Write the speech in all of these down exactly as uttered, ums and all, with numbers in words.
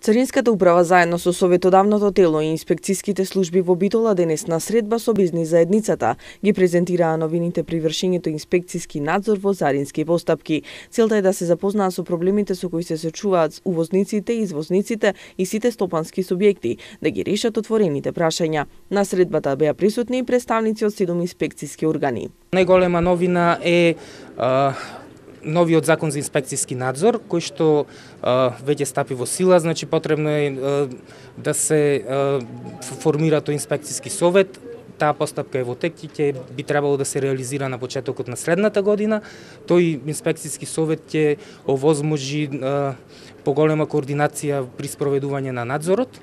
Царинската управа заедно со советодавното тело и инспекциските служби во Битола денес на средба со бизнис заедницата ги презентираа новините при вршењето инспекциски надзор во царински постапки. Целта е да се запознаат со проблемите со кои се сочуваат увозниците, извозниците и сите стопански субјекти, да ги решат отворените прашања. На средбата беа присутни и представници од седум инспекциски органи. Најголема новина е а... новиот закон за инспекциски надзор, кој што а, веќе стапи во сила, значи потребно е а, да се а, формира тој инспекциски совет. Таа постапка е во тек и ќе би требало да се реализира на почетокот на следната година. Тој инспекциски совет ќе овозможи а, поголема координација при спроведување на надзорот.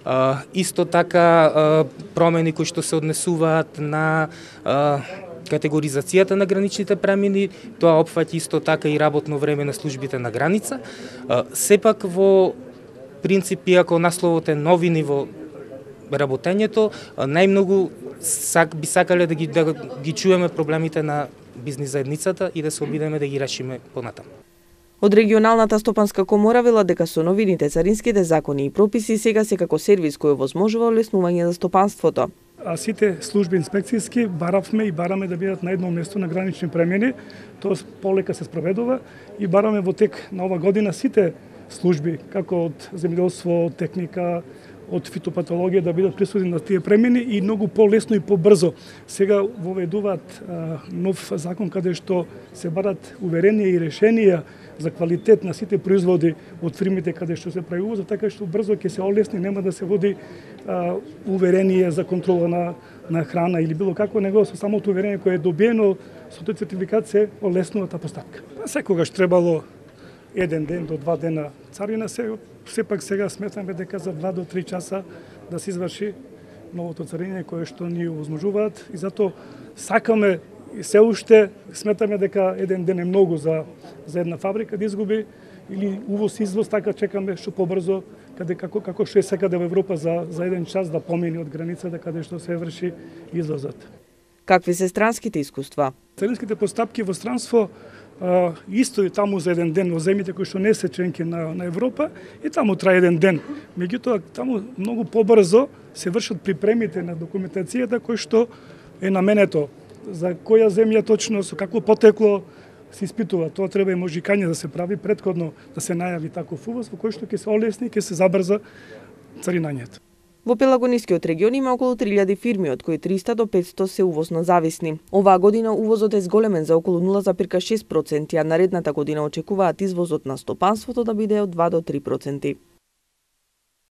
А, исто така а, промени кои што се однесуваат на а, категоризацијата на граничните премини, тоа опфаќа исто така и работно време на службите на граница. Сепак во принцип, иако насловот е новини во работењето, најмногу сак, би сакале да ги, да ги чуеме проблемите на бизнис заедницата и да се обидеме да ги решиме понатаму. Од регионалната стопанска комора велат дека со новините царинските закони и прописи сега се како сервис кој овозможува олеснување за стопанството. А сите служби инспекцијски баравме и бараме да бидат на едно место на гранични премини, тоа полека се спроведува и бараме во тек на ова година сите служби, како од земјоделство, од техника, од фитопатологија да бидат присутни на тие премини и многу полесно и побрзо. Сега воведуваат а, нов закон каде што се барат уверенија и решенија за квалитет на сите производи од фирмите каде што се прави увоз, така што брзо ќе се олесни, нема да се води а, уверение за контрола на, на храна или било какво, него со самото уверение кое е добиено со тој сертификат се олеснува таа постапка. Секогаш требало еден ден до два дена царина, се, сепак сега сметаме дека за два до три часа да се изврши новото цариње кое што ни овозможуваат и затоа сакаме и се уште сметаме дека еден ден е многу за, за една фабрика да изгуби или увоз извоз, така чекаме што побрзо каде како како што е секаде во Европа за за еден час да помине од границата каде што се врши извозот. Какви се странските искуства? Царинските постапки во странство а, исто и таму за еден ден во земјите кои што не се членки на на Европа и таму трае еден ден. Меѓутоа таму многу побрзо се вршат припремите на документацијата кој што е наменето за која земја точно, со какво потекло се испитува. Тоа треба и можикање да се прави претходно да се најави таков увоз во кој што ќе се олесни, ќе се забрза царинањето. Во Пелагонискиот регион има околу три илјади фирми, од кои триста до петсто се увозно зависни. Оваа година увозот е зголемен за околу нула зарез шест проценти, а наредната година очекуваат извозот на стопанството да биде од два до три проценти.